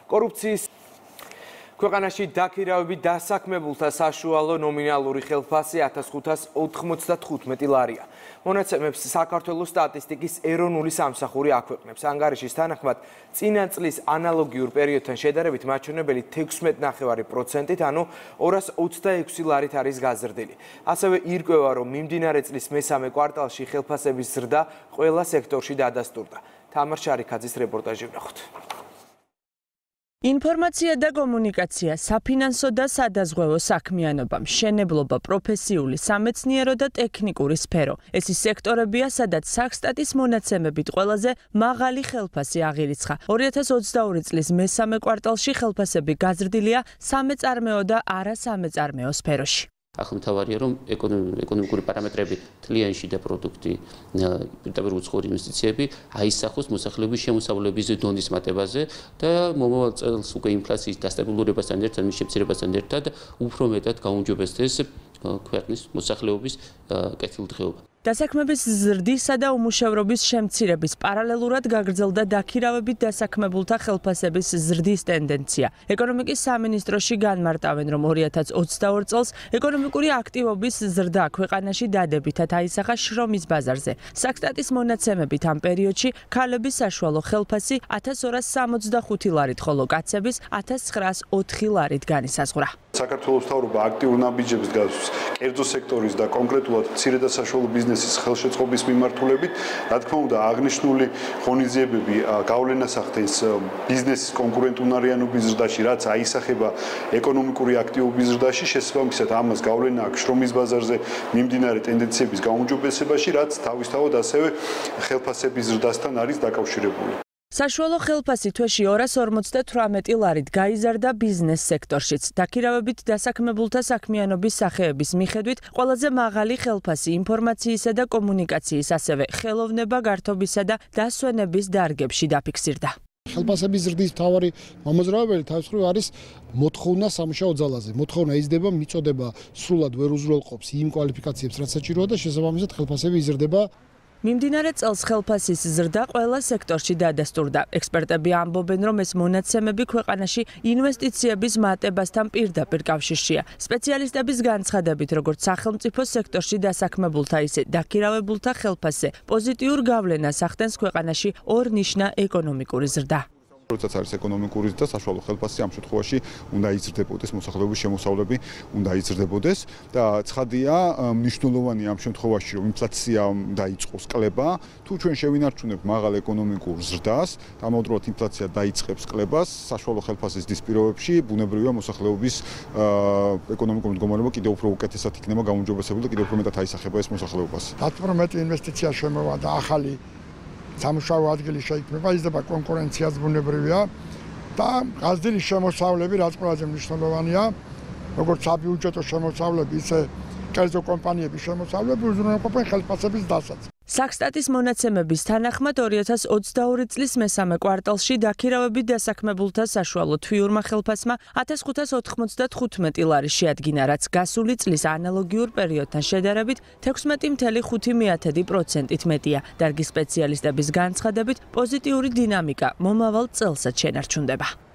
კორუფციის ქვეყანაში დაქირავები დასაქმებულთა საშუალო ნომინალური ხელფასი 1595 ლარია. მონაცემებს საქართველოს სტატისტიკის ეროვნული სამსახური აქვეყნებს. ანგარიშის თანახმად, წინა წლის ანალოგიურ პერიოდთან შედარებით მაჩვენებელი 16.9%-ით, ანუ 226 ლარით არის გაზრდილი. ასევე ირკვევა, რომ მიმდინარე წლის მესამე კვარტალში ხელფასების ზრდა ყველა სექტორში დადასტურდა. თამარ შარიქაძის რეპორტაჟი ვნახოთ. ინფორმაცია და კომუნიკაცია, საფინანსო და სადაზღვევო საქმიანობა, მშენებლობა, პროფესიული, სამეცნიერო და ტექნიკური სფერო. ეს ის სექტორებია, სადაც საქსტატის მონაცემებით ყველაზე მაღალი ხელფასი აღირიცხა. 2022 წლის მესამე კვარტალში ხელფასები გაზრდილია სამეწარმეო და არასამეწარმეო სფეროში. ახლა მთავარია, რომ ეკონომიკური პარამეტრები, თლიანში და პროდუქტი, პირდაპირ უცხოური ინვესტიციები აისახოს მოსახლეობის შემოსავლების დონის მატებაზე და მომავალ წელს უკვე ინფლაციის დასტაბილურებასთან ერთად, მის შემცირებასთან ერთად უფრო მეტად გაუმჯობესდეს ქვეყნის მოსახლეობის კეთილდღეობა. დასაქმების ზრდისა და უმუშევრობის შემცირების პარალელურად გაგრძელდა დაქირავებით დასაქმებულთა ხელფასების ზრდის ტენდენცია. ეკონომიკის სამინისტროში განმარტავენ, რომ 2022 წელს ეკონომიკური აქტივობის ზრდა ქვეყანაში დადებითად აისახა შრომის ბაზარზე. საქსტატის მონაცემებით ამ პერიოდში ქალების საშუალო ხელფასი 1265 ლარით, ხოლო კაცების 1904 ლარით განისაზღვრა. საქართველოს მთავრობა აქტიურ ნაბიჯებს გასვს კერძო სექტორის და კონკრეტულად მცირე და საშუალო ბიზნესის ხელშეწყობის მიმართულებით, რა თქმა უნდა, აღნიშნული ღონისძიებები გავლენას ახდენს ბიზნესის კონკურენტუნარიანობის ზრდაში, რაც აისახება ეკონომიკური აქტივობის ზრდაში, შესაბამისად ამას გავლენა აქვს შრომის ბაზარზე მიმდინარე ტენდენციების გაუმჯობესებაში, რაც თავისთავად ასევე ხელფასების ზრდასთან არის დაკავშირებული. საშუალო ხელფასი თვეში 258 ლარით გაიზარდა ბიზნეს სექტორშიც. დაქირავებით დასაქმებულთა საქმიანობის სახეების მიხედვით ყველაზე მაღალი ხელფასი ინფორმაციისა და კომუნიკაციის, ასევე ხელოვნება, გართობისა და დასვენების დარგებში დაფიქსირდა. ხელფასების ზრდის მთავარი მომაზრაებელი თავისუფლად არის მოთხოვნა სამუშაო ძალაზე. მოთხოვნა იზრდება, მიწოდება სრულად ვერ უზრუნველყოფს იმ კვალიფიკაციებს, რაც საჭიროა და შესაბამისად ხელფასები იზრდება. მიმდინარე წელს ხელფასის ზრდა ყველა სექტორში დადასტურდა. ექსპერტები ამბობენ, რომ ეს მონაცემები ქვეყანაში ინვესტიციების მატებასთან პირდაპირ კავშირშია. სპეციალისტების განცხადებით, როგორც სახელმწიფო სექტორში დასაქმებულთა, ისე დაქირავებულთა ხელფასზე პოზიტიურ გავლენას ახდენს ქვეყანაში ორნიშნა ეკონომიკური ზრდა. როდესაც არის ეკონომიკური და საშუალო ხელფასი, ამ შემთხვევაში უნდა იზრდებოდეს მოსახლეობის შემოსავლები, უნდა იზრდებოდეს და ცხადია, მნიშვნელოვანია ამ შემთხვევაში, რომ ინფლაცია დაიწყოს კლება. თუ ჩვენ შევინარჩუნებთ მაღალ ეკონომიკურ ზრდას, ამავდროულად ინფლაცია დაიწყებს კლებას, საშუალო ხელფასის ზრდის პირობებში, ბუნებრივია მოსახლეობის ეკონომიკური მდგომარეობა კიდევ უფრო უკეთესად იქნება გაუმჯობესებული და კიდევ უფრო მეტად აისახება ეს მოსახლეობას. 10% ინვესტიცია შემოვა და ახალი სამუშაო ადგილი შეიქმნება, იზრდება კონკურენციაც ბუნებრივია და გაზრდილი შემოსავლები, რაც ყველაზე მნიშვნელოვანია, როგორც საბიუჯეტო შემოსავლები, ისე კერძო კომპანიების შემოსავლები უზრუნველყოფენ ხელფასების დასაცავად. საქსტატის მონაცემების თანახმად 2022 წლის მესამე კვარტალში დაქირავებით დასაქმებულთა საშუალო თვიურმა ხელფასმა 1595 ლარი შეადგინა, რაც გასული წლის ანალოგიურ პერიოდთან შედარებით 16.5%-ით მეტია. დარგის სპეციალისტების განცხადებით, პოზიტიური დინამიკა მომავალ წელსაც შენარჩუნდება.